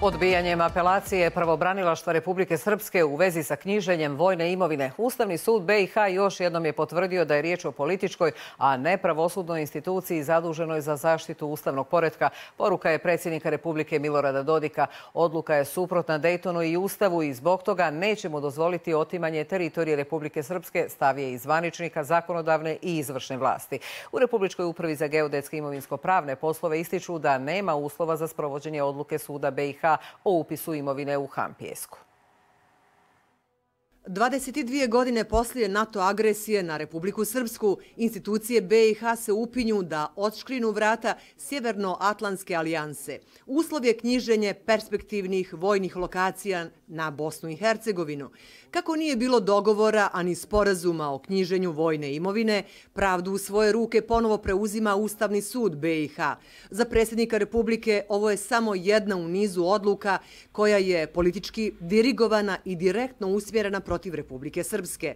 Odbijanjem apelacije pravobranilaštva Republike Srpske u vezi sa knjiženjem vojne imovine, Ustavni sud BiH još jednom je potvrdio da je riječ o političkoj, a ne pravosudnoj instituciji zaduženoj za zaštitu ustavnog poretka. Poruka je predsjednika Republike Milorada Dodika. Odluka je suprotna Dejtonu i Ustavu i zbog toga nećemo dozvoliti otimanje teritorije Republike Srpske, stav je i zvaničnika zakonodavne i izvršne vlasti. U Republičkoj upravi za geodetske imovinsko-pravne poslove ističu da nema uslova za sprovođenje odluke suda BiH o upisu imovine u Hampijesku. 22 godine poslije NATO agresije na Republiku Srpsku, institucije BiH se upinju da odškrinu vrata Sjevernoatlantske alijanse. Uslov je knjiženje perspektivnih vojnih lokacija na Bosnu i Hercegovinu. Kako nije bilo dogovora, ani sporazuma o knjiženju vojne imovine, pravdu u svoje ruke ponovo preuzima Ustavni sud BiH. Za predsjednika Republike ovo je samo jedna u nizu odluka koja je politički dirigovana i direktno usmjerena protiv Republike Srpske.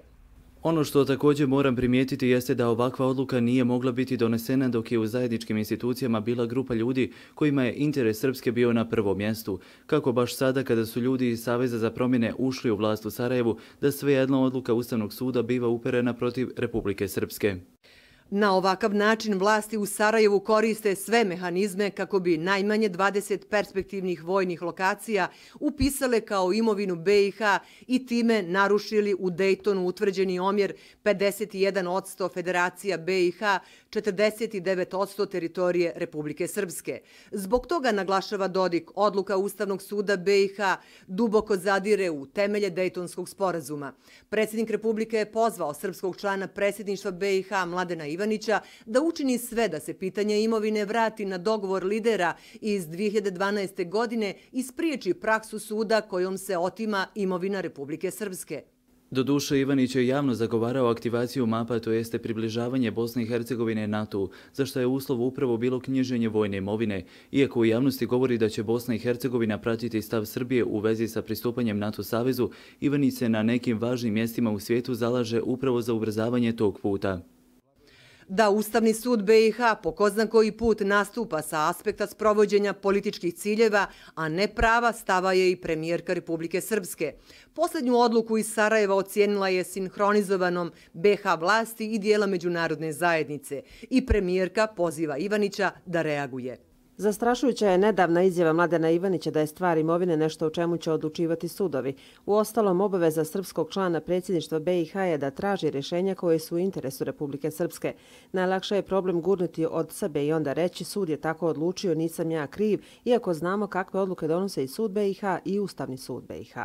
Ono što također moram primijetiti jeste da ovakva odluka nije mogla biti donesena dok je u zajedničkim institucijama bila grupa ljudi kojima je interes Srpske bio na prvom mjestu. Kako baš sada kada su ljudi iz Saveza za promjene ušli u vlast u Sarajevu, da svejedno odluka Ustavnog suda biva uperena protiv Republike Srpske. Na ovakav način vlasti u Sarajevu koriste sve mehanizme kako bi najmanje 20 perspektivnih vojnih lokacija upisale kao imovinu BiH i time narušili u Dejtonu utvrđeni omjer 51% Federacija BiH, 49% teritorije Republike Srpske. Zbog toga, naglašava Dodik, odluka Ustavnog suda BiH duboko zadire u temelje Dejtonskog sporazuma. Predsjednik Republike je pozvao srpskog člana predsjedništva BiH Mladena Ivanića da učini sve da se pitanje imovine vrati na dogovor lidera iz 2012. godine i spriječi praksu suda kojom se otima imovina Republike Srpske. Doduše, Ivanić je javno zagovarao aktivaciju mapa, to jeste približavanje Bosne i Hercegovine NATO-u, za što je uslov upravo bilo knjiženje vojne imovine. Iako u javnosti govori da će Bosna i Hercegovina pratiti stav Srbije u vezi sa pristupanjem NATO savezu, Ivanić se na nekim važnim mjestima u svijetu zalaže upravo za ubrzavanje tog puta. Da Ustavni sud BiH po ko zna koji put nastupa sa aspekta sprovođenja političkih ciljeva, a ne prava, stava je i premijerka Republike Srpske. Posljednju odluku iz Sarajeva ocijenila je sinhronizovanom BiH vlasti i dijela međunarodne zajednice i premijerka poziva Ivanića da reaguje. Zastrašujuća je nedavna izjava Mladena Ivanića da je stvar imovine nešto o čemu će odlučivati sudovi. Uostalom, obaveza srpskog člana predsjedništva BiH je da traži rješenja koje su u interesu Republike Srpske. Najlakše je problem gurnuti od sebe i onda reći sud je tako odlučio, nisam ja kriv, iako znamo kakve odluke donose i sud BiH i Ustavni sud BiH.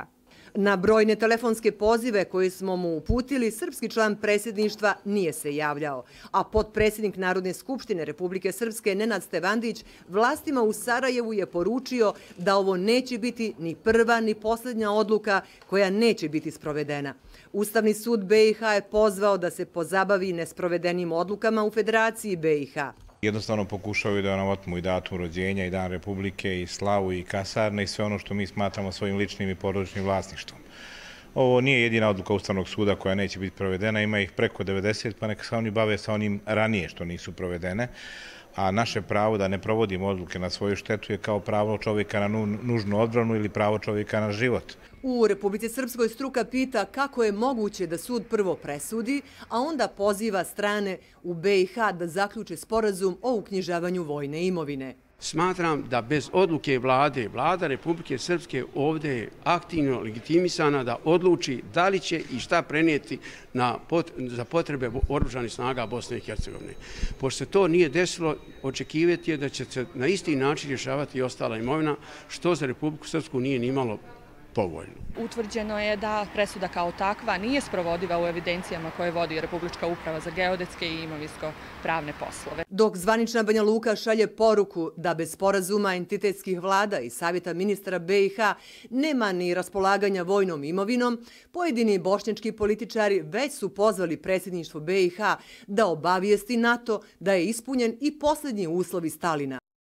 Na brojne telefonske pozive koje smo mu uputili, srpski član predsjedništva nije se javljao, a potpredsjednik Narodne skupštine Republike Srpske Nenad Stevandić vlastima u Sarajevu je poručio da ovo neće biti ni prva ni posljednja odluka koja neće biti sprovedena. Ustavni sud BiH je pozvao da se pozabavi nesprovedenim odlukama u Federaciji BiH. Jednostavno pokušavaju da nam otmu i datum rođenja, i dan Republike, i slavu, i kasarne, i sve ono što mi smatramo svojim ličnim i porodičnim vlasništvom. Ovo nije jedina odluka Ustavnog suda koja neće biti provedena, ima ih preko 90, pa neka se oni bave sa onim ranije što nisu provedene. A naše pravo da ne provodimo odluke na svoju štetu je kao pravo čovjeka na nužnu odbranu ili pravo čovjeka na život. U Republici Srpskoj struka pita kako je moguće da sud prvo presudi, a onda poziva strane u BiH da zaključe sporazum o uknjižavanju vojne imovine. Smatram da bez odluke vlade, vlada Republike Srpske ovdje je aktivno legitimisana da odluči da li će i šta prenijeti za potrebe oružanih snaga Bosne i Hercegovine. Pošto se to nije desilo, očekivati je da će se na isti način rješavati i ostala imovina, što za Republiku Srpsku nije nimalo povoljno. Utvrđeno je da presuda kao takva nije sprovodiva u evidencijama koje vodi Republička uprava za geodetske i imovinsko-pravne poslove. Dok zvanična Banja Luka šalje poruku da bez sporazuma entitetskih vlada i savjeta ministara BiH nema ni raspolaganja vojnom imovinom, pojedini bošnjački političari već su pozvali predsjedništvo BiH da obavijesti NATO da je ispunjen i posljednji uslov iz Stalina.